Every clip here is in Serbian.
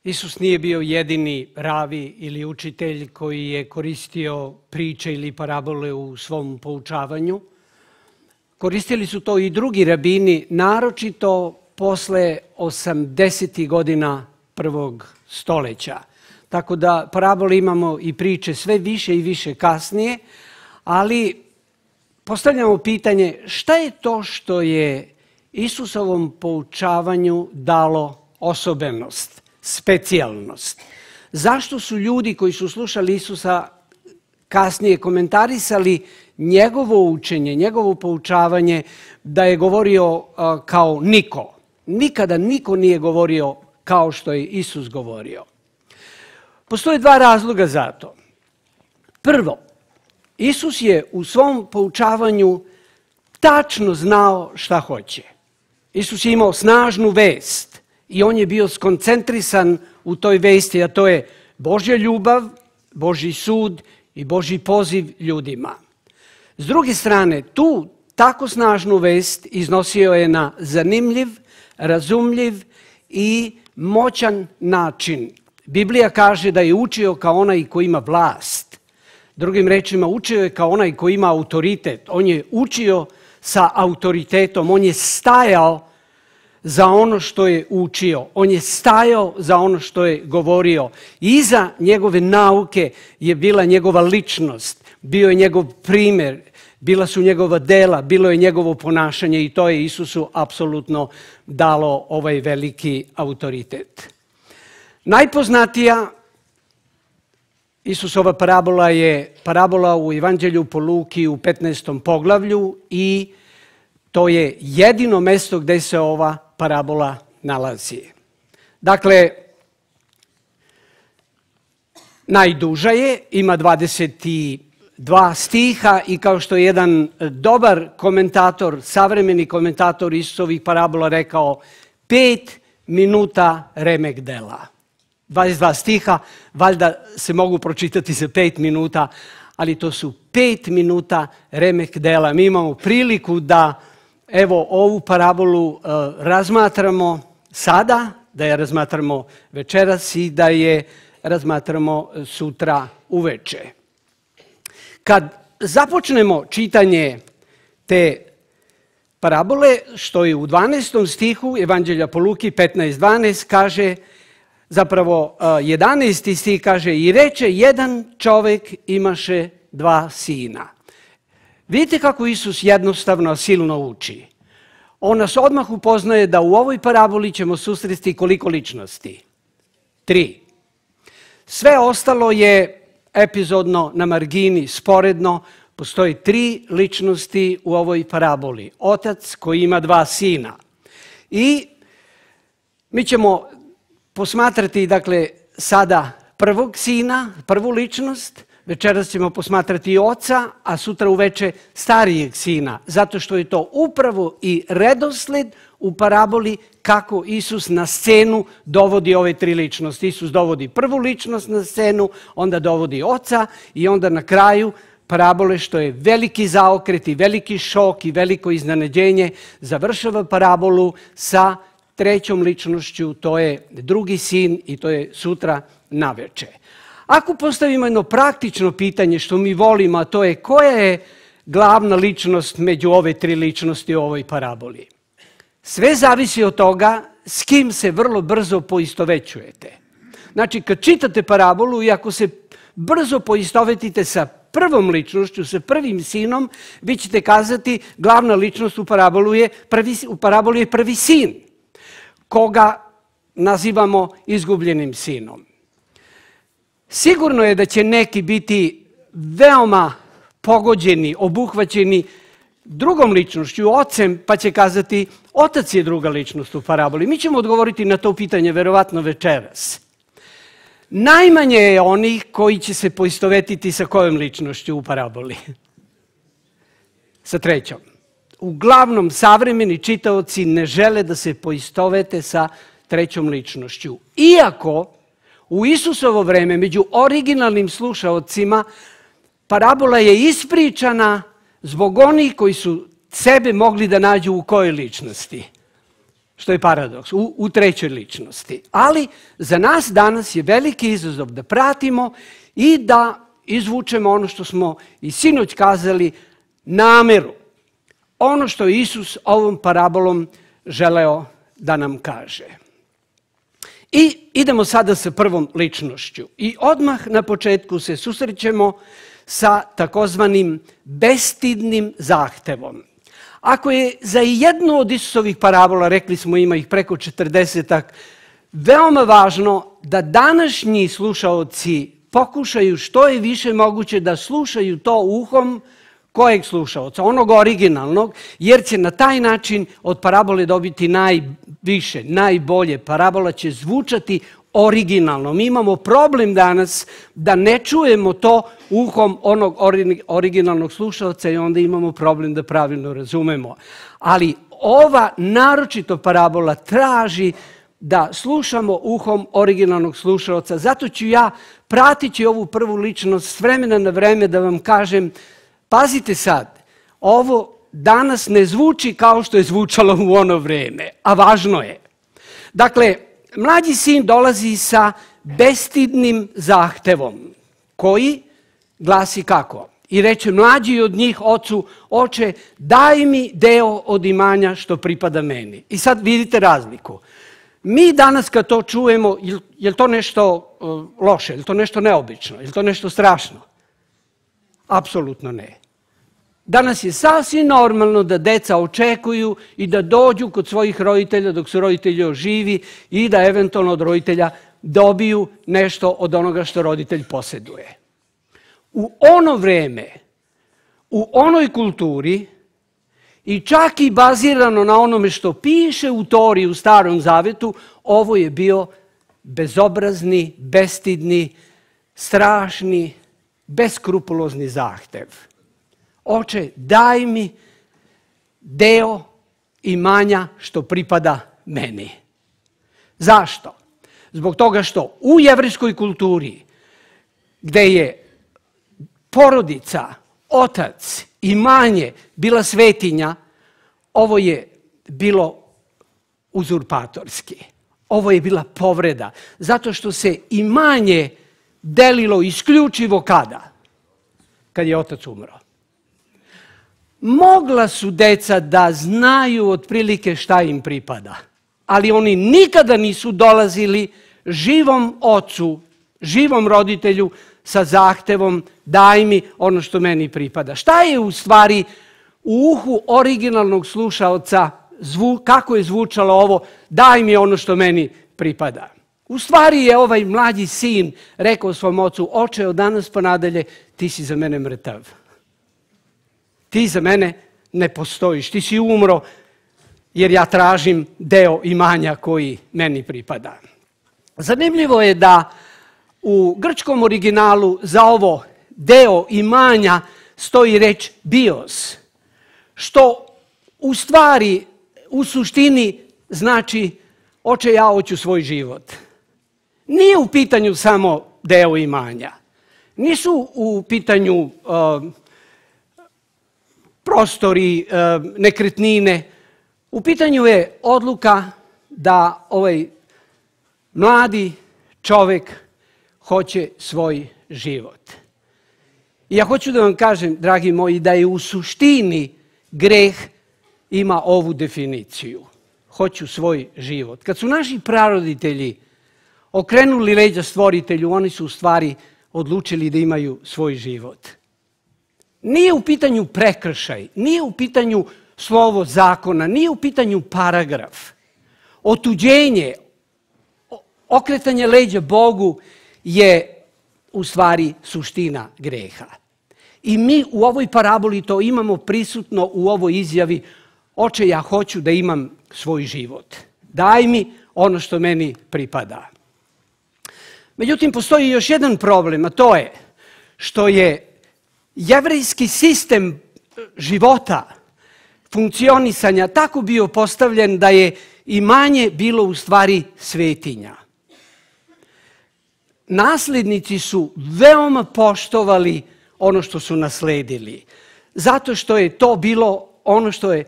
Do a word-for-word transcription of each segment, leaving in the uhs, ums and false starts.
Isus nije bio jedini ravi ili učitelj koji je koristio priče ili parabole u svom poučavanju. Koristili su to i drugi rabini, naročito posle osamdesetih godina prvog stoleća. Tako da parabole imamo i priče sve više i više kasnije, ali postavljamo pitanje šta je to što je Isusovom poučavanju dalo osobenost, specijalnost. Zašto su ljudi koji su slušali Isusa kasnije komentarisali njegovo učenje, njegovo poučavanje da je govorio uh, kao niko. Nikada niko nije govorio kao što je Isus govorio. Postoje dva razloga za to. Prvo, Isus je u svom poučavanju tačno znao šta hoće. Isus je imao snažnu vest i on je bio skoncentrisan u toj vesti, a to je Božja ljubav, Božji sud i Božji poziv ljudima. S druge strane, tu tako snažnu vest iznosio je na zanimljiv, razumljiv i moćan način. Biblija kaže da je učio kao onaj koji ima vlast. Drugim rečima, učio je kao onaj koji ima autoritet. On je učio sa autoritetom, on je stajao za ono što je učio. On je stajao za ono što je govorio. Iza njegove nauke je bila njegova ličnost, bio je njegov primjer, bila su njegova dela, bilo je njegovo ponašanje i to je Isusu apsolutno dalo ovaj veliki autoritet. Najpoznatija Isusova parabola je parabola u Evanđelju po Luki u petnaestom poglavlju i to je jedino mesto gdje se ova parabola nalazi. Dakle, najduža je, ima dvadeset dva stiha i kao što je jedan dobar komentator, savremeni komentator Isusovih parabola rekao, pet minuta remek dela. dvadeset dva stiha, valjda se mogu pročitati za pet minuta, ali to su pet minuta remek dela. Mi imamo priliku da evo ovu parabolu uh, razmatramo sada, da je razmatramo večeras i da je razmatramo sutra uveče. Kad započnemo čitanje te parabole, što je u dvanaestom stihu Evanđelja po Luki petnaest dvanaest kaže, zapravo jedanaesti stih kaže, i reče jedan čovjek imaše dva sina. Vidite kako Isus jednostavno silno uči. On nas odmah upoznaje da u ovoj paraboli ćemo susresti koliko ličnosti? Tri. Sve ostalo je epizodno na margini, sporedno. Postoji tri ličnosti u ovoj paraboli. Otac koji ima dva sina. I mi ćemo posmatrati, dakle, sada prvog sina, prvu ličnost, večeras ćemo posmatrati oca, a sutra uveče starijeg sina, zato što je to upravo i redosled u paraboli kako Isus na scenu dovodi ove tri ličnosti. Isus dovodi prvu ličnost na scenu, onda dovodi oca i onda na kraju parabole, što je veliki zaokret i veliki šok i veliko iznenađenje, završava parabolu sa trećom ličnošću, to je drugi sin i to je sutra naveče. Ako postavimo jedno praktično pitanje što mi volimo, a to je koja je glavna ličnost među ove tri ličnosti u ovoj paraboli? Sve zavisi od toga s kim se vrlo brzo poistovećujete. Znači, kad čitate parabolu i ako se brzo poistovetite sa prvom ličnošću, sa prvim sinom, vi ćete kazati glavna ličnost u parabolu je prvi, u parabolu je prvi sin, koga nazivamo izgubljenim sinom. Sigurno je da će neki biti veoma pogođeni, obuhvaćeni drugom ličnošću, ocem, pa će kazati otac je druga ličnost u paraboli. Mi ćemo odgovoriti na to pitanje verovatno večeras. Najmanje je onih koji će se poistovetiti sa kojom ličnošću u paraboli? Sa trećom. Uglavnom, savremeni čitaoci ne žele da se poistovete sa trećom ličnošću. Iako u Isusovo vreme, među originalnim slušaocima, parabola je ispričana zbog onih koji su sebe mogli da nađu u kojoj ličnosti? što je paradoks, u, u trećoj ličnosti. Ali za nas danas je veliki izazov da pratimo i da izvučemo ono što smo i sinoć kazali, nameru. Ono što je Isus ovom parabolom želeo da nam kaže. I idemo sada sa prvom ličnošću. I odmah na početku se susrećemo sa takozvanim bestidnim zahtevom. Ako je za jednu od Isusovih parabola, rekli smo ima ih preko četrdesetak, veoma važno da današnji slušaoci pokušaju što je više moguće da slušaju to uhom kojeg slušaoca, onog originalnog, jer će na taj način od parabole dobiti najviše, najbolje. Parabola će zvučati originalno. Mi imamo problem danas da ne čujemo to uhom onog originalnog slušaoca i onda imamo problem da pravilno razumemo. Ali ova naročito parabola traži da slušamo uhom originalnog slušaoca. Zato ću ja pratići ovu prvu ličnost s vremena na vreme da vam kažem, pazite sad, ovo danas ne zvuči kao što je zvučalo u ono vreme, a važno je. Dakle, mlađi sin dolazi sa bestidnim zahtevom, koji glasi kako? I reče mlađi od njih ocu, oče, daj mi deo od imanja što pripada meni. I sad vidite razliku. Mi danas kad to čujemo, je li to nešto loše, je li to nešto neobično, je li to nešto strašno? Apsolutno ne. Danas je sasvim normalno da deca očekuju i da dođu kod svojih roditelja dok su roditelji živi i da eventualno od roditelja dobiju nešto od onoga što roditelj posjeduje. U ono vreme, u onoj kulturi i čak i bazirano na onome što piše u Tori u Starom Zavetu, ovo je bio bezobrazni, bestidni, strašni, beskrupulozni zahtev. Oče, daj mi deo imanja što pripada meni. Zašto? Zbog toga što u jevrejskoj kulturi, gde je porodica, otac, imanje bila svetinja, ovo je bilo uzurpatorski. Ovo je bila povreda, zato što se imanje delilo isključivo kada? Kad je otac umro. Mogla su deca da znaju otprilike šta im pripada, ali oni nikada nisu dolazili živom ocu, živom roditelju sa zahtevom daj mi ono što meni pripada. Šta je u stvari u uhu originalnog slušaoca, kako je zvučalo ovo, daj mi ono što meni pripada? U stvari je ovaj mlađi sin rekao svom ocu, oče, od danas pa nadalje ti si za mene mrtav. Ti za mene ne postojiš, ti si umro jer ja tražim deo imanja koji meni pripada. Zanimljivo je da u grčkom originalu za ovo deo imanja stoji reč bios, što u stvari, u suštini znači oče, ja hoću svoj život. Nije u pitanju samo deo imanja. Nisu u pitanju uh, prostori, uh, nekretnine. U pitanju je odluka da ovaj mladi čovjek hoće svoj život. I ja hoću da vam kažem, dragi moji, da je u suštini greh ima ovu definiciju. Hoću svoj život. Kad su naši praroditelji okrenuli leđa stvoritelju, oni su u stvari odlučili da imaju svoj život. Nije u pitanju prekršaj, nije u pitanju slovo zakona, nije u pitanju paragraf. Otuđenje, okretanje leđa Bogu je u stvari suština greha. I mi u ovoj paraboli to imamo prisutno u ovoj izjavi, oče, ja hoću da imam svoj život. Daj mi ono što meni pripada. Međutim, postoji još jedan problem, a to je što je jevrejski sistem života, funkcionisanja tako bio postavljen da je imanje bilo u stvari svetinja. Naslednici su veoma poštovali ono što su nasledili, zato što je to bilo ono što je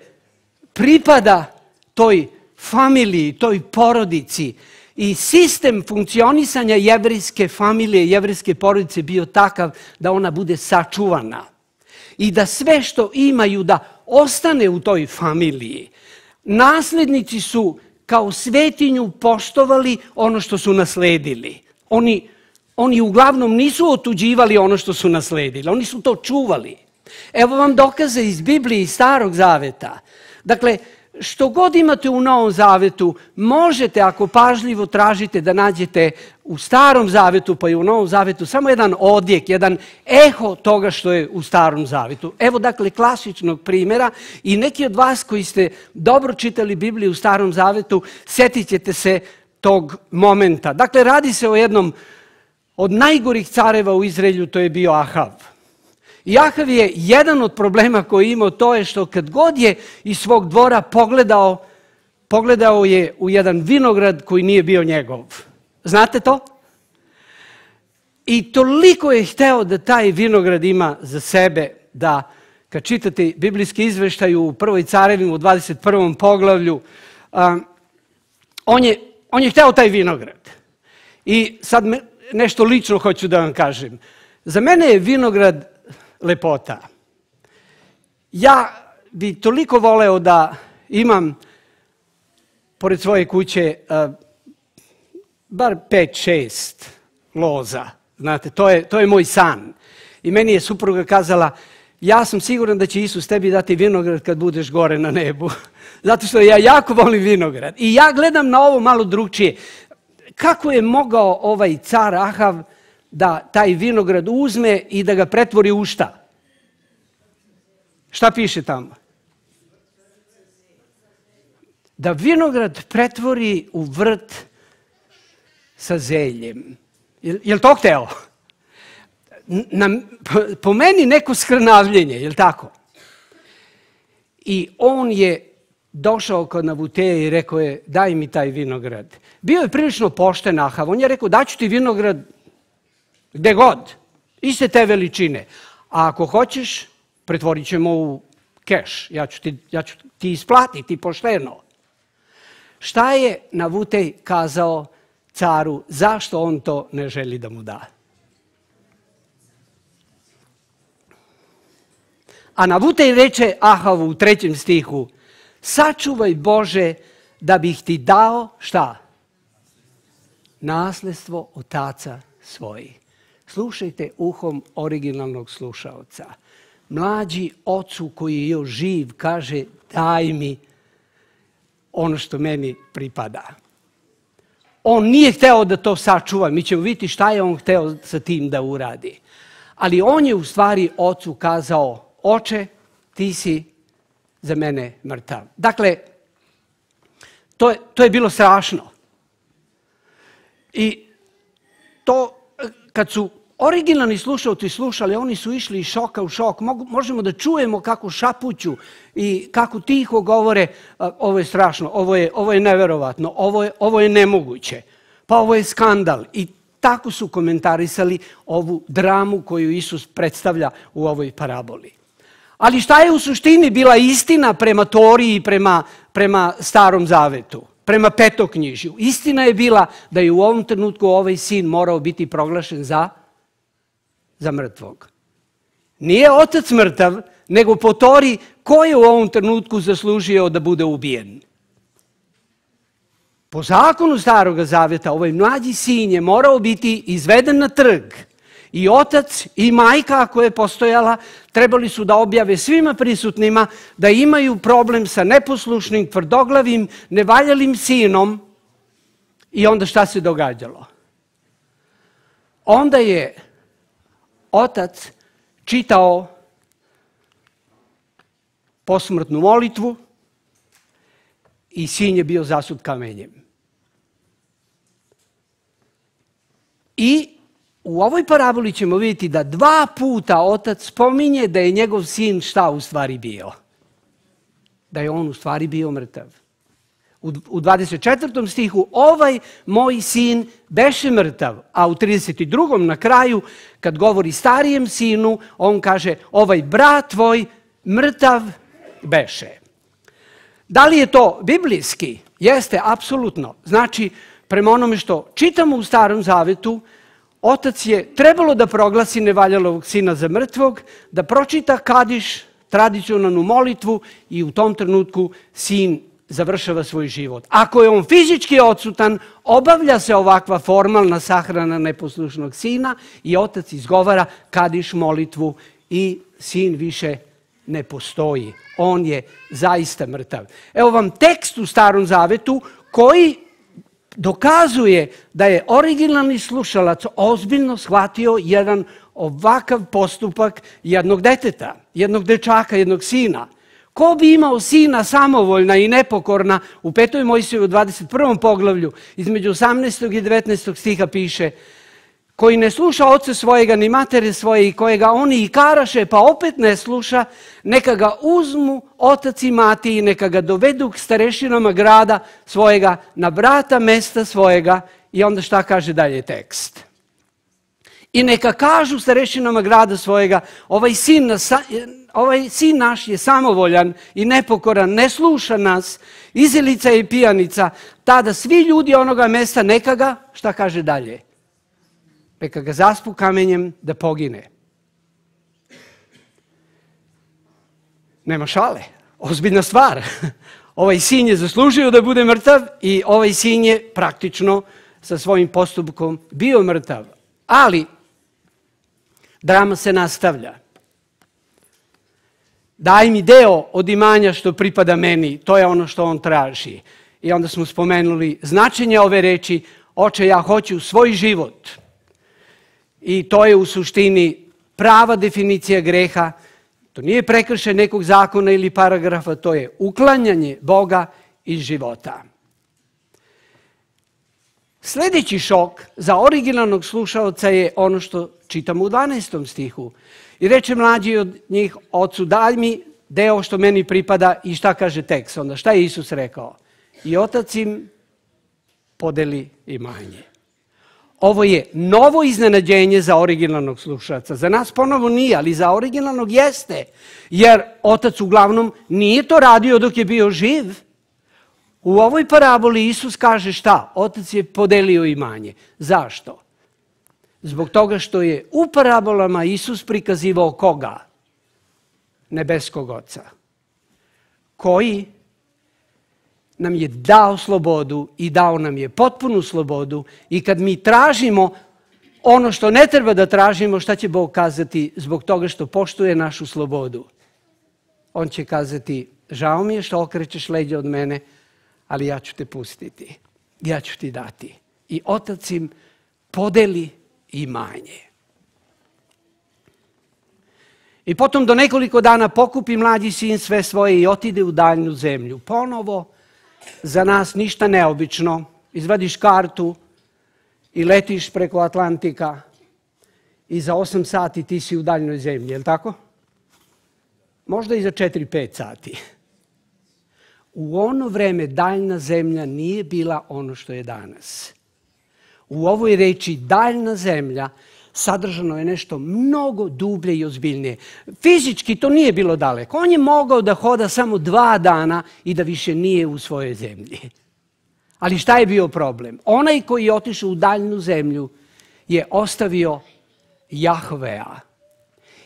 pripada toj familiji, toj porodici. I sistem funkcionisanja jevrejske familije, jevrejske porodice bio takav da ona bude sačuvana. I da sve što imaju da ostane u toj familiji. Naslednici su kao svetinju poštovali ono što su nasledili. Oni, oni uglavnom nisu otuđivali ono što su nasledili, oni su to čuvali. Evo vam dokaze iz Biblije i Starog Zaveta. Dakle, što god imate u Novom Zavetu, možete, ako pažljivo tražite, da nađete u Starom Zavetu pa i u Novom Zavetu samo jedan odjek, jedan eho toga što je u Starom Zavetu. Evo dakle klasičnog primjera i neki od vas koji ste dobro čitali Bibliju u Starom Zavetu, sjetit ćete se tog momenta. Dakle, radi se o jednom od najgorih careva u Izraelju, to je bio Ahav. I Ahav je jedan od problema koji je imao, to je što kad god je iz svog dvora pogledao, pogledao je u jedan vinograd koji nije bio njegov. Znate to? I toliko je hteo da taj vinograd ima za sebe, da kad čitate biblijski izveštaj u Prvoj Carevima u dvadeset prvom poglavlju, um, on, je, on je hteo taj vinograd. I sad me, nešto lično hoću da vam kažem. Za mene je vinograd lepota. Ja bi toliko voleo da imam pored svoje kuće uh, bar pet, šest loza. Znate, to je, to je moj san. I meni je supruga kazala, ja sam siguran da će Isus tebi dati vinograd kad budeš gore na nebu. Zato što ja jako volim vinograd. I ja gledam na ovo malo drugčije. Kako je mogao ovaj car Ahav da taj vinograd uzme i da ga pretvori u šta? Šta piše tamo? Da vinograd pretvori u vrt sa zeljem. Je li to hteo? Na, po meni neko skrnavljenje, je li tako? I on je došao kod Nabuteja i rekao je, daj mi taj vinograd. Bio je prilično pošten Ahav. On je rekao, daću ti vinograd gde god, iste te veličine. A ako hoćeš, pretvorit ćemo u keš. Ja ću ti, ja ću ti isplatiti pošteno. Šta je Nabutej kazao caru, zašto on to ne želi da mu da? A Nabutej reče Ahavu u trećem stihu, sačuvaj Bože da bih ti dao šta? Nasledstvo otaca svojih. Slušajte uhom originalnog slušaoca. Mlađi ocu koji je još živ kaže daj mi ono što meni pripada. On nije hteo da to sačuva. Mi ćemo vidjeti šta je on hteo sa tim da uradi. Ali on je u stvari ocu kazao, oče, ti si za mene mrtav. Dakle, to je, to je bilo strašno. I to, kad su originalni slušalci slušali, oni su išli iz šoka u šok. Možemo da čujemo kako šapuću i kako tiho govore, ovo je strašno, ovo je, ovo je neverovatno, ovo je, ovo je nemoguće, pa ovo je skandal. I tako su komentarisali ovu dramu koju Isus predstavlja u ovoj paraboli. Ali šta je u suštini bila istina prema Toriji i prema, prema Starom Zavetu? Prema Petoknjižju. Istina je bila da je u ovom trenutku ovaj sin morao biti proglašen za, za mrtvog. Nije otac mrtav, nego po Toriji ko je u ovom trenutku zaslužio da bude ubijen. Po zakonu Starog Zaveta ovaj mlađi sin je morao biti izveden na trg. I otac i majka, ako je postojala, trebali su da objave svima prisutnima da imaju problem sa neposlušnim, tvrdoglavim, nevaljalim sinom. I onda šta se događalo? Onda je otac čitao posmrtnu molitvu i sin je bio zasut kamenjem. I u ovoj paraboli ćemo vidjeti da dva puta otac spominje da je njegov sin šta u stvari bio. Da je on u stvari bio mrtav. U dvadeset četvrtom stihu ovaj moj sin beše mrtav, a u trideset drugom na kraju kad govori starijem sinu, on kaže ovaj brat tvoj mrtav beše. Da li je to biblijski? Jeste, apsolutno. Znači, prema onome što čitamo u Starom Zavetu, otac je trebalo da proglasi nevaljalog sina za mrtvog, da pročita kadiš, tradicionalnu molitvu i u tom trenutku sin završava svoj život. Ako je on fizički odsutan, obavlja se ovakva formalna sahrana neposlušnog sina i otac izgovara kadiš molitvu i sin više ne postoji. On je zaista mrtav. Evo vam tekst u Starom Zavetu koji dokazuje da je originalni slušalac ozbiljno shvatio jedan ovakav postupak jednog deteta, jednog dečaka, jednog sina. Ko bi imao sina samovoljna i nepokorna, u petoj Mojsijevoj dvadeset prvom poglavlju, između osamnaestog i devetnaestog stiha piše, koji ne sluša oca svojega ni matere svoje i kojega oni i karaše, pa opet ne sluša, neka ga uzmu otac i mati i neka ga dovedu k starešinama grada svojega, na vrata mesta svojega. I onda šta kaže dalje tekst? I neka kažu starešinama grada svojega, ovaj sin, ovaj sin naš je samovoljan i nepokoran, ne sluša nas, izilica i pijanica, tada svi ljudi onoga mesta neka ga, šta kaže dalje? Neka ga zaspu kamenjem da pogine. Nema šale, ozbiljna stvar. Ovaj sin je zaslužio da bude mrtav i ovaj sin je praktično sa svojim postupkom bio mrtav. Ali drama se nastavlja. Daj mi deo od imanja što pripada meni, to je ono što on traži. I onda smo spomenuli značenje ove reči, oče, ja hoću svoj život. I to je u suštini prava definicija greha. To nije prekršaj nekog zakona ili paragrafa, to je uklanjanje Boga iz života. Sljedeći šok za originalnog slušaoca je ono što čitamo u dvanaestom stihu. I reče mlađi od njih, ocu, daj mi deo što meni pripada. I šta kaže tekst onda? Šta je Isus rekao? I otac im podeli imanje. Ovo je novo iznenađenje za originalnog slušaoca. Za nas ponovo nije, ali za originalnog jeste. Jer otac uglavnom nije to radio dok je bio živ. U ovoj paraboli Isus kaže šta? Otac je podelio imanje. Zašto? Zbog toga što je u parabolama Isus prikazivao koga? Nebeskog Oca. Koji nam je dao slobodu i dao nam je potpunu slobodu i kad mi tražimo ono što ne treba da tražimo, šta će Bog kazati zbog toga što poštuje našu slobodu? On će kazati, žao mi je što okrećeš leđa od mene, ali ja ću te pustiti, ja ću ti dati. I otac im podeli imanje. I potom do nekoliko dana pokupi mlađi sin sve svoje i otide u daljnu zemlju. Ponovo, za nas ništa neobično. Izvadiš kartu i letiš preko Atlantika i za osam sati ti si u daljnoj zemlji, je li tako? Možda i za četiri pet sati. U ono vreme daljna zemlja nije bila ono što je danas. U ovoj reči daljna zemlja sadržano je nešto mnogo dublje i ozbiljnije. Fizički to nije bilo daleko. On je mogao da hoda samo dva dana i da više nije u svojoj zemlji. Ali šta je bio problem? Onaj koji je otišao u daljnu zemlju je ostavio Jahvea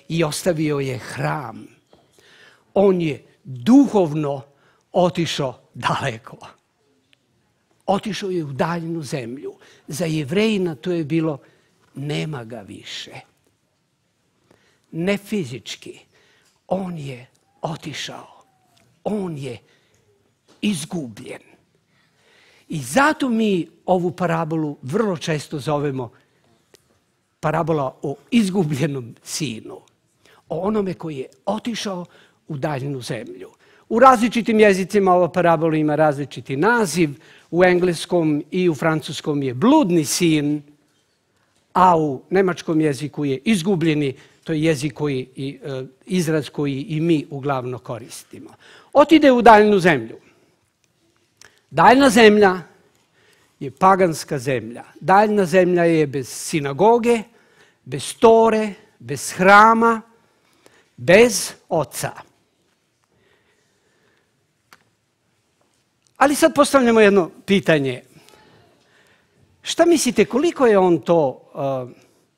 i ostavio je hram. On je duhovno otišao daleko. Otišao je u daljnu zemlju. Za Jevrejina to je bilo nema ga više. Ne fizički. On je otišao. On je izgubljen. I zato mi ovu parabolu vrlo često zovemo parabola o izgubljenom sinu. O onome koji je otišao u daljnu zemlju. U različitim jezicima ova parabola ima različiti naziv. U engleskom i u francuskom je bludni sin, a u nemačkom jeziku je izgubljeni, to je jezik koji, i, e, izraz koji i mi uglavnom koristimo. Otide u daljnu zemlju. Daljna zemlja je paganska zemlja. Daljna zemlja je bez sinagoge, bez tore, bez hrama, bez oca. Ali sad postavljamo jedno pitanje. Šta mislite, koliko je on to uh,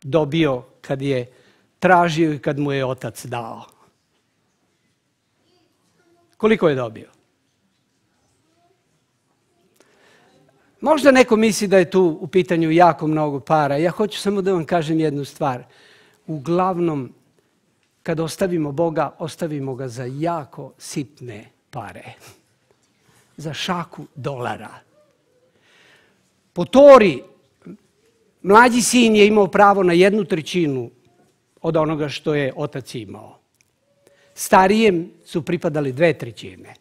dobio kad je tražio i kad mu je otac dao? Koliko je dobio? Možda neko misli da je tu u pitanju jako mnogo para. Ja hoću samo da vam kažem jednu stvar. Uglavnom, kad ostavimo Boga, ostavimo ga za jako sitne pare. Za šaku dolara. Po Tori, mlađi sin je imao pravo na jednu trećinu od onoga što je otac imao. Starijem su pripadali dve trećine.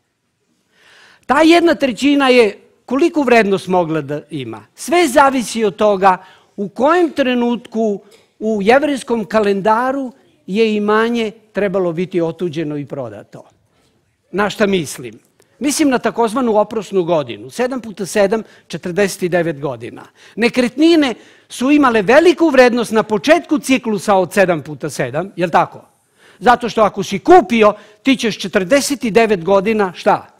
Ta jedna trećina je koliko vrednost mogla da ima. Sve zavisi od toga u kojem trenutku u jevrejskom kalendaru je imanje trebalo biti otuđeno i prodato. Na šta mislim? Mislim na takozvanu oprosnu godinu. sedam puta sedam, četrdeset devet godina. Nekretnine su imale veliku vrednost na početku ciklusa od sedam puta sedam, je li tako? Zato što ako si kupio, ti ćeš četrdeset devet godina, šta?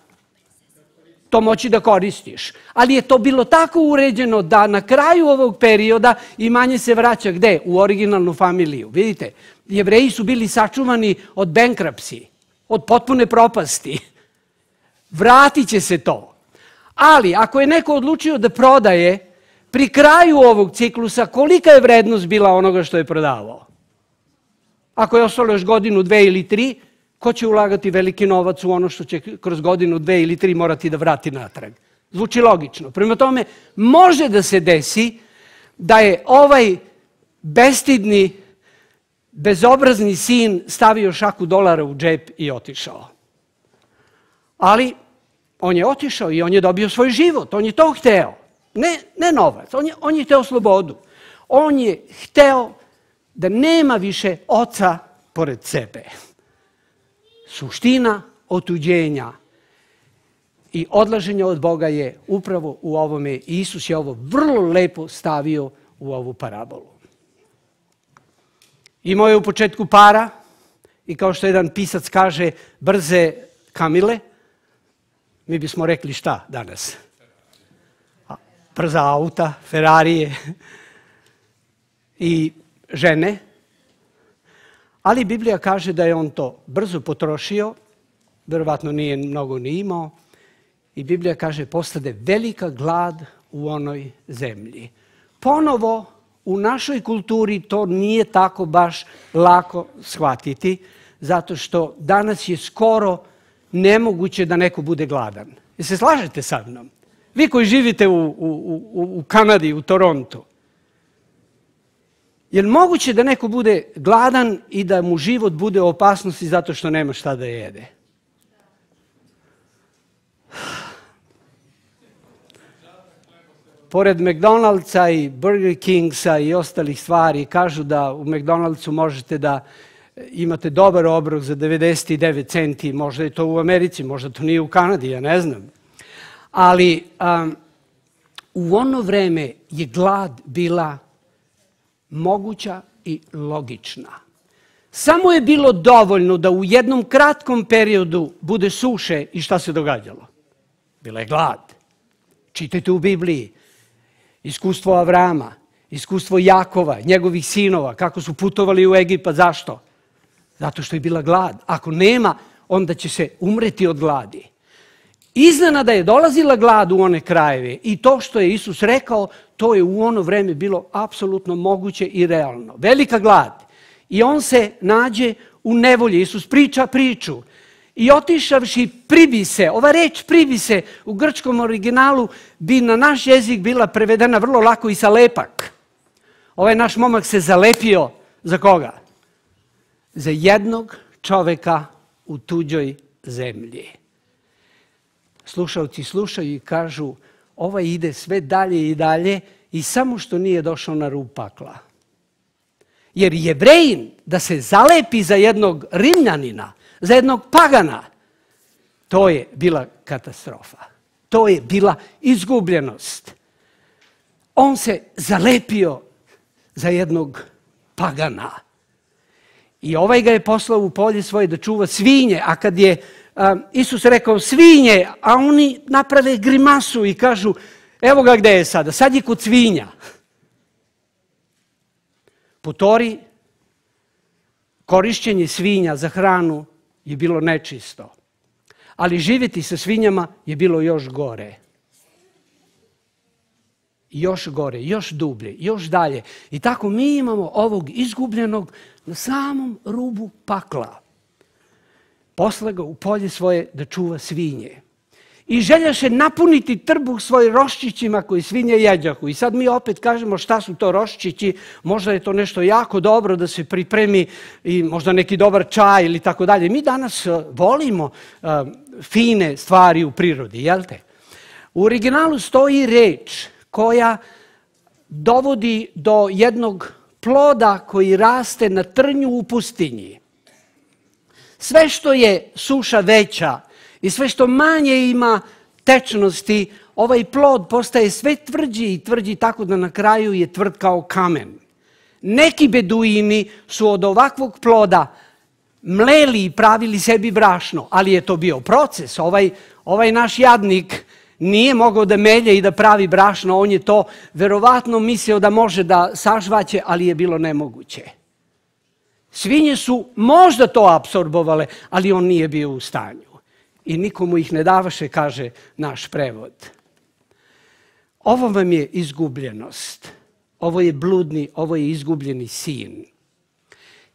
To moći da koristiš. Ali je to bilo tako uređeno da na kraju ovog perioda imanje se vraća gde? U originalnu familiju. Vidite, Jevreji su bili sačuvani od bankruptcy, od potpune propasti. Vratit će se to. Ali ako je neko odlučio da prodaje, pri kraju ovog ciklusa, kolika je vrednost bila onoga što je prodavao? Ako je ostalo još godinu, dve ili tri, ko će ulagati veliki novac u ono što će kroz godinu, dve ili tri morati da vrati natrag? Zvuči logično. Prema tome, može da se desi da je ovaj bestidni, bezobrazni sin stavio šaku dolara u džep i otišao. Ali on je otišao i on je dobio svoj život. On je to hteo. Ne, ne novac. On je, on je hteo slobodu. On je hteo da nema više oca pored sebe. Suština otuđenja i odlaženja od Boga je upravo u ovome. Isus je ovo vrlo lepo stavio u ovu parabolu. Imao je u početku para i kao što jedan pisac kaže, brze kamile. Mi bismo rekli šta danas? Brza auta, Ferrarije i žene. Ali Biblija kaže da je on to brzo potrošio, verovatno nije mnogo ni imao, i Biblija kaže postade velika glad u onoj zemlji. Ponovo, u našoj kulturi to nije tako baš lako shvatiti, zato što danas je skoro nemoguće da neko bude gladan. Jel se slažete sa mnom? Vi koji živite u, u, u, u Kanadi, u Torontu, je li moguće da neko bude gladan i da mu život bude u opasnosti zato što nema šta da jede? Pored McDonald'sa i Burger Kingsa i ostalih stvari, kažu da u McDonald'su možete da imate dobar obrok za devedeset devet centi, možda je to u Americi, možda to nije u Kanadi, ja ne znam. Ali um, u ono vreme je glad bila moguća i logična. Samo je bilo dovoljno da u jednom kratkom periodu bude suše i šta se događalo? Bila je glad. Čitajte u Bibliji iskustvo Avrama, iskustvo Jakova, njegovih sinova, kako su putovali u Egipat. Zašto? Zato što je bila glad. Ako nema, onda će se umreti od gladi. Iznenada je dolazila glad u one krajeve i to što je Isus rekao, to je u ono vreme bilo apsolutno moguće i realno. Velika glad. I on se nađe u nevolji. Isus priča priču. I otišavši pribi se, ova reč pribi se u grčkom originalu bi na naš jezik bila prevedena vrlo lako i sa lepak. Ovaj naš momak se zalepio za koga? Za jednog čoveka u tuđoj zemlji. Slušalci slušaju i kažu, ovaj ide sve dalje i dalje i samo što nije došao na rub pakla. Jer Jevrejin da se zalepi za jednog Rimljanina, za jednog pagana, to je bila katastrofa. To je bila izgubljenost. On se zalepio za jednog pagana. I ovaj ga je poslao u polje svoje da čuva svinje, a kad je a, Isus rekao svinje, a oni naprave grimasu i kažu, evo ga gde je sada, sad je kod svinja. Po Tori, korišćenje svinja za hranu je bilo nečisto, ali živjeti sa svinjama je bilo još gore. Još gore, još dublje, još dalje. I tako mi imamo ovog izgubljenog na samom rubu pakla. Posla ga u polje svoje da čuva svinje. I željaše napuniti trbuh svoj roščićima koji svinje jeđahu. I sad mi opet kažemo šta su to roščići, možda je to nešto jako dobro da se pripremi i možda neki dobar čaj ili tako dalje. Mi danas volimo uh, fine stvari u prirodi, jel te? U originalu stoji reč koja dovodi do jednog ploda koji raste na trnju u pustinji. Sve što je suša veća i sve što manje ima tečnosti, ovaj plod postaje sve tvrđi i tvrđi tako da na kraju je tvrd kao kamen. Neki beduini su od ovakvog ploda mleli i pravili sebi brašno, ali je to bio proces. Ovaj, ovaj naš jadnik nije mogao da melje i da pravi brašno, on je to verovatno mislio da može da sažvaće, ali je bilo nemoguće. Svinje su možda to apsorbovale, ali on nije bio u stanju. I nikomu ih ne davaše, kaže naš prevod. Ovo vam je izgubljenost. Ovo je bludni, ovo je izgubljeni sin.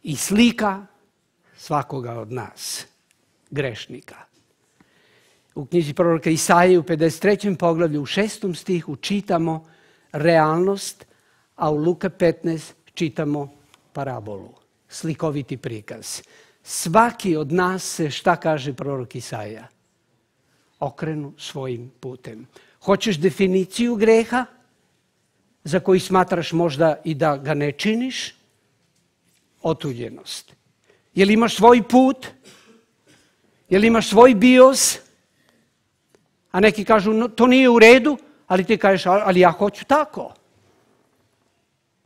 I slika svakoga od nas, grešnika. U knjizi proroka Isaije u pedeset trećem poglavlju u šestom stihu čitamo realnost, a u Luka petnaest čitamo parabolu, slikoviti prikaz. Svaki od nas se, šta kaže prorok Isaija? Okrenu svojim putem. Hoćeš definiciju greha za koji smatraš možda i da ga ne činiš? Otuđenost. Jel imaš svoj put? Jel imaš svoj bios? A neki kažu, no, to nije u redu, ali ti kažeš, ali ja hoću tako.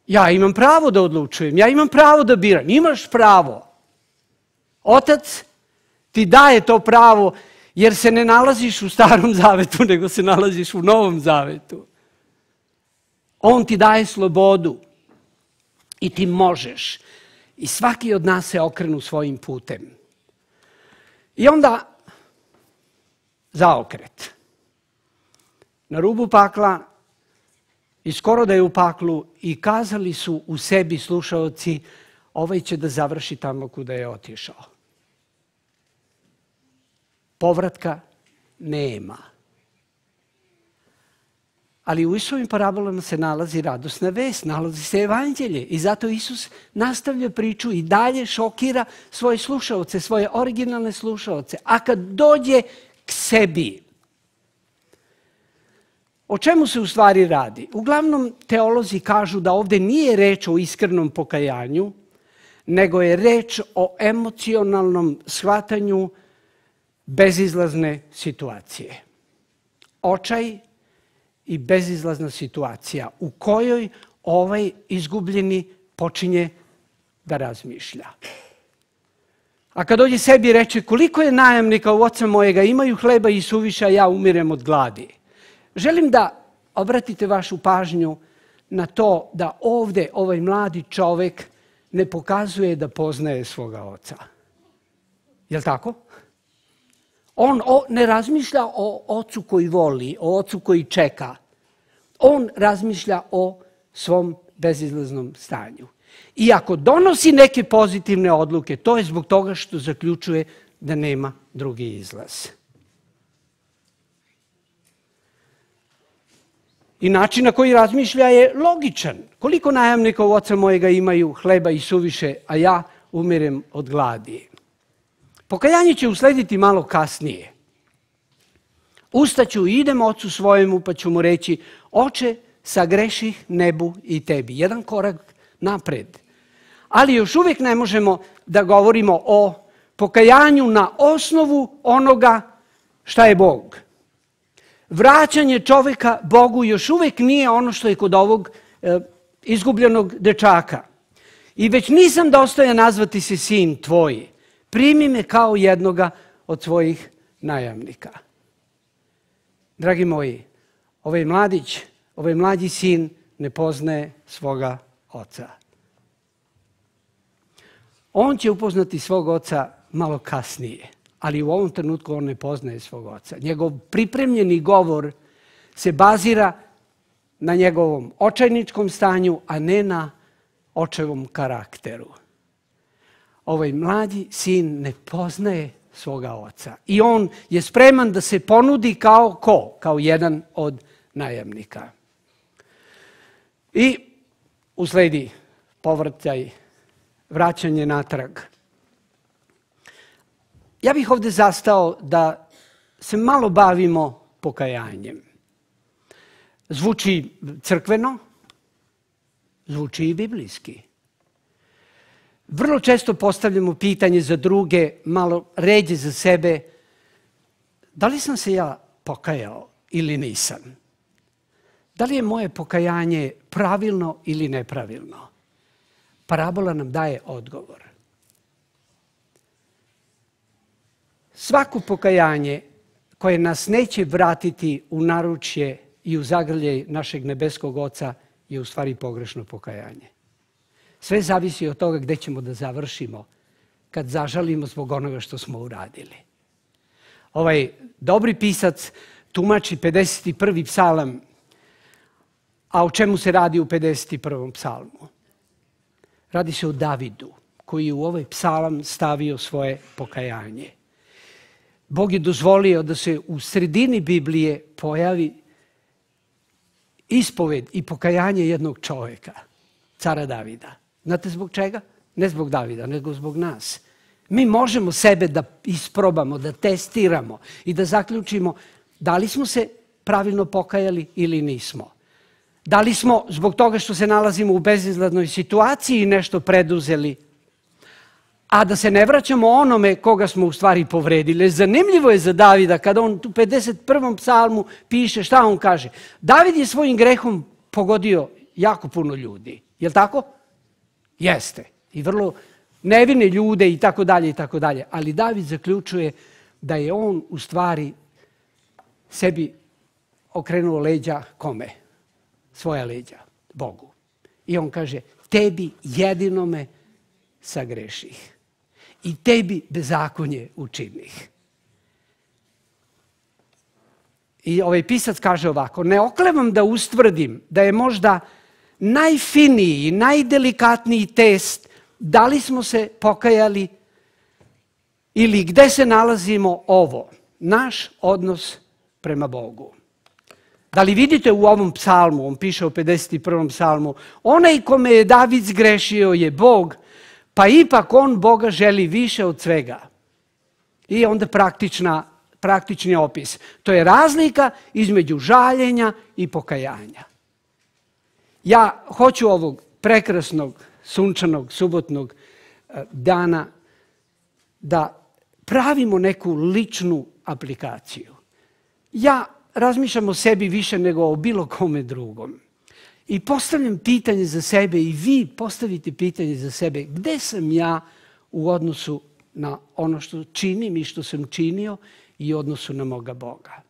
Ja imam pravo da odlučujem, ja imam pravo da biram. Imaš pravo. Otac ti daje to pravo jer se ne nalaziš u starom zavetu, nego se nalaziš u novom zavetu. On ti daje slobodu i ti možeš. I svaki od nas se okrenu svojim putem. I onda zaokret. Na rubu pakla i skoro da je u paklu i kazali su u sebi slušaoci, ovaj će da završi tamo kuda je otišao. Povratka nema. Ali u Isusovim parabolama se nalazi radosna vest, nalazi se evanđelje i zato Isus nastavlja priču i dalje šokira svoje slušaoce, svoje originalne slušaoce. A kad dođe k sebi, o čemu se u stvari radi? Uglavnom teolozi kažu da ovdje nije reč o iskrenom pokajanju, nego je reč o emocionalnom shvatanju bezizlazne situacije. Očaj i bezizlazna situacija u kojoj ovaj izgubljeni počinje da razmišlja. A kad dođe sebi reče, koliko je najamnika u oca mojega, imaju hleba i suviša, ja umirem od gladi. Želim da obratite vašu pažnju na to da ovdje ovaj mladi čovjek ne pokazuje da poznaje svoga oca. Je li tako? On ne razmišlja o ocu koji voli, o ocu koji čeka. On razmišlja o svom bezizlaznom stanju. I ako donosi neke pozitivne odluke, to je zbog toga što zaključuje da nema drugi izlaz. I način na koji razmišlja je logičan. Koliko najamnika u oca mojega imaju hleba i suviše, a ja umirem od gladi. Pokajanje će uslediti malo kasnije. Ustaću i idem ocu svojemu pa ću mu reći, oče, sagreših nebu i tebi. Jedan korak napred. Ali još uvijek ne možemo da govorimo o pokajanju na osnovu onoga šta je Bog. Vraćanje čovjeka Bogu još uvijek nije ono što je kod ovog e, izgubljenog dečaka. i već nisam dostojan nazvati se sin tvoj. Primi me kao jednoga od svojih najamnika. Dragi moji, ovaj mladić, ovaj mlađi sin ne poznaje svoga oca. On će upoznati svog oca malo kasnije, ali u ovom trenutku on ne poznaje svog oca. Njegov pripremljeni govor se bazira na njegovom očajničkom stanju, a ne na očevom karakteru. Ovaj mlađi sin ne poznaje svoga oca i on je spreman da se ponudi kao ko? Kao jedan od najamnika. I usledi povrtaj, vraćanje natrag. Ja bih ovdje zastao da se malo bavimo pokajanjem. Zvuči crkveno, zvuči i biblijski. Vrlo često postavljamo pitanje za druge, malo ređe za sebe, da li sam se ja pokajao ili nisam? Da li je moje pokajanje pravilno ili nepravilno? Parabola nam daje odgovor. Svako pokajanje koje nas neće vratiti u naručje i u zagrljaj našeg nebeskog Oca je u stvari pogrešno pokajanje. Sve zavisi od toga gdje ćemo da završimo kad zažalimo zbog onoga što smo uradili. Ovaj dobri pisac tumači pedeset prvi psalam, a o čemu se radi u pedeset prvom psalmu? Radi se o Davidu, koji je u ovaj psalam stavio svoje pokajanje. Bog je dozvolio da se u sredini Biblije pojavi ispoved i pokajanje jednog čovjeka, cara Davida. Znate zbog čega? Ne zbog Davida, nego zbog nas. Mi možemo sebe da isprobamo, da testiramo i da zaključimo da li smo se pravilno pokajali ili nismo. Da li smo zbog toga što se nalazimo u bezizladnoj situaciji nešto preduzeli, a da se ne vraćamo onome koga smo u stvari povredili. Zanimljivo je za Davida kada on u pedeset prvom psalmu piše, šta on kaže? David je svojim grehom pogodio jako puno ljudi. Je li tako? Jeste. I vrlo nevine ljude i tako dalje i tako dalje. Ali David zaključuje da je on u stvari sebi okrenuo leđa kome? Svoja leđa, Bogu. I on kaže, tebi jedinome sagreših i tebi bezakonje učinih. I ovaj pisac kaže ovako, ne oklevam da ustvrdim da je možda najfiniji, najdelikatniji test da li smo se pokajali ili gde se nalazimo ovo, naš odnos prema Bogu. Da li vidite u ovom psalmu, on piše u pedeset prvom psalmu, onaj kome je David zgrešio je Bog, pa ipak on Boga želi više od svega. I onda praktična, praktični opis. To je razlika između žaljenja i pokajanja. Ja hoću ovog prekrasnog, sunčanog, subotnog dana da pravimo neku ličnu aplikaciju. Ja razmišljam o sebi više nego o bilo kome drugom. I postavljam pitanje za sebe i vi postavite pitanje za sebe. Gde sam ja u odnosu na ono što činim i što sam činio i u odnosu na moga Boga?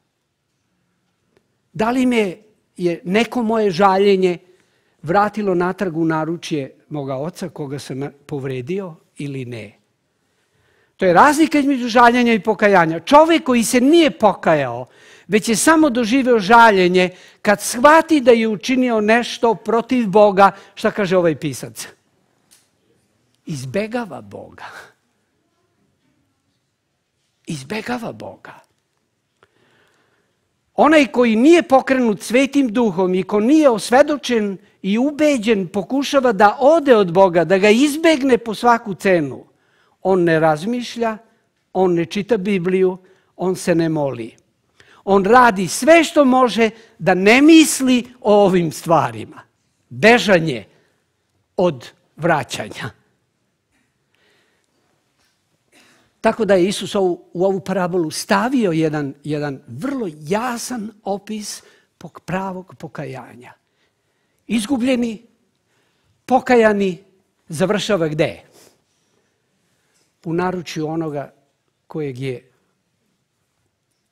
Da li me je neko moje žaljenje vratilo natrag u naručje moga Oca koga sam povredio ili ne? To je razlika između žaljenja i pokajanja. Čovjek koji se nije pokajao, već je samo doživeo žaljenje, kad shvati da je učinio nešto protiv Boga, šta kaže ovaj pisac? Izbegava Boga. Izbegava Boga. Onaj koji nije pokrenut Svetim Duhom i ko nije osvedočen i ubeđen, pokušava da ode od Boga, da ga izbegne po svaku cenu. On ne razmišlja, on ne čita Bibliju, on se ne moli. On radi sve što može da ne misli o ovim stvarima. Bežanje od vraćanja. Tako da je Isus u ovu parabolu stavio jedan, jedan vrlo jasan opis pravog pokajanja. Izgubljeni, pokajani završava gde? U naručju onoga kojeg je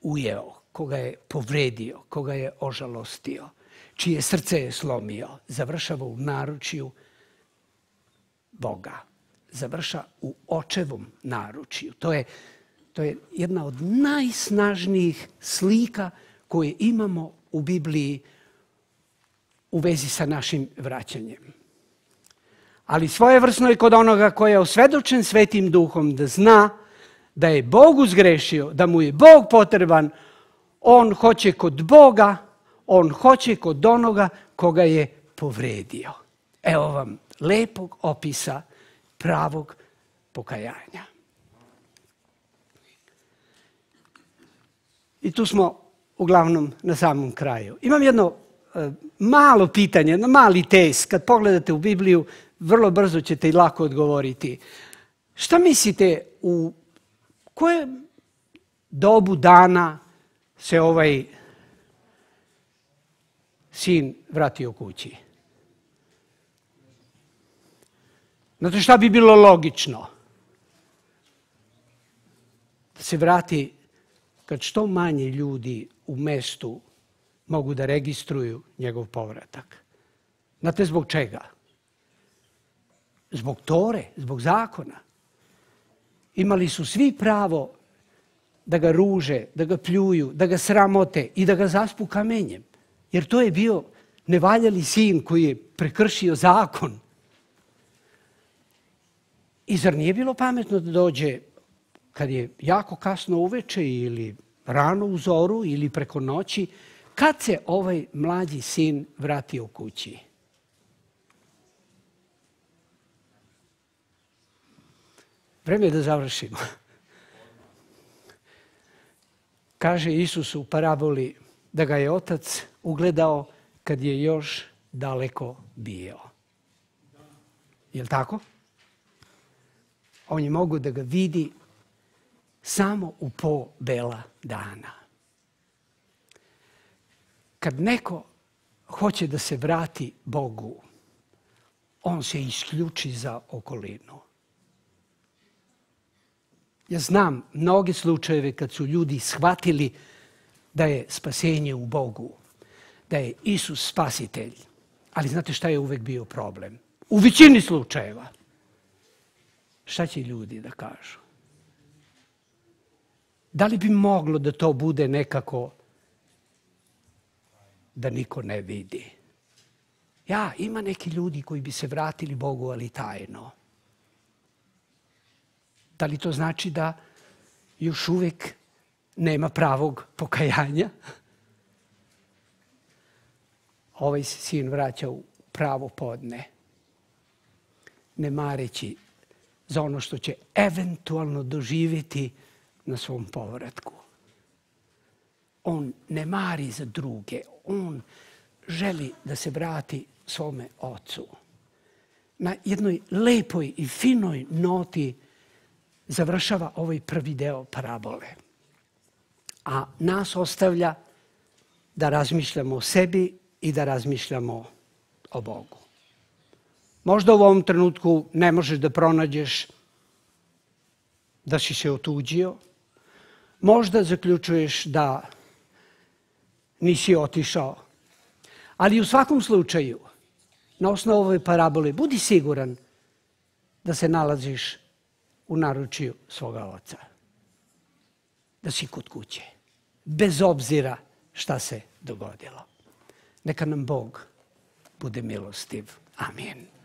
ujeo, koga je povredio, koga je ožalostio, čije srce je slomio. Završava u naručju Boga. Završa u očevom naručju. To je, to je jedna od najsnažnijih slika koje imamo u Bibliji u vezi sa našim vraćanjem. Ali svojevrsno je kod onoga koji je osvedočen Svetim Duhom da zna da je Bog uzgrešio, da mu je Bog potreban, on hoće kod Boga, on hoće kod onoga koga je povredio. Evo vam lepog opisa pravog pokajanja. I tu smo uglavnom na samom kraju. Imam jedno e, malo pitanje, jedno mali test. Kad pogledate u Bibliju, vrlo brzo ćete i lako odgovoriti. Šta mislite, u kojem dobu dana se ovaj sin vratio kući? Znate šta bi bilo logično? Da se vrati kad što manje ljudi u mestu mogu da registruju njegov povratak. Znate zbog čega? Zbog Tore, zbog zakona. Imali su svi pravo da ga ruže, da ga pljuju, da ga sramote i da ga zaspu kamenjem. Jer to je bio nevaljali sin koji je prekršio zakon. I zar nije bilo pametno da dođe kad je jako kasno uveče ili rano u zoru ili preko noći, kad se ovaj mlađi sin vratio kući? Vreme je da završimo. Kaže Isus u paraboli da ga je otac ugledao kad je još daleko bio. Je li tako? On je mogao da ga vidi samo u po bela dana. Kad neko hoće da se vrati Bogu, on se isključi za okolinu. Ja znam mnoge slučajeve kad su ljudi shvatili da je spasenje u Bogu, da je Isus spasitelj. Ali znate šta je uvek bio problem? U većini slučajeva. Šta će ljudi da kažu? Da li bi moglo da to bude nekako da niko ne vidi? Ja, ima neki ljudi koji bi se vratili Bogu, ali tajno. Da li to znači da još uvek nema pravog pokajanja? Ovaj se sin vraća u pravo podne, ne mareći za ono što će eventualno doživjeti na svom povratku. On ne mari za druge, on želi da se vrati svome ocu. Na jednoj lepoj i finoj noti završava ovaj prvi deo parabole. A nas ostavlja da razmišljamo o sebi i da razmišljamo o Bogu. Možda u ovom trenutku ne možeš da pronađeš da si se otuđio. Možda zaključuješ da nisi otišao. Ali u svakom slučaju, na osnovu ove parabole, budi siguran da se nalaziš u naručju svoga oca. Da si kod kuće. Bez obzira šta se dogodilo. Neka nam Bog bude milostiv. Amin.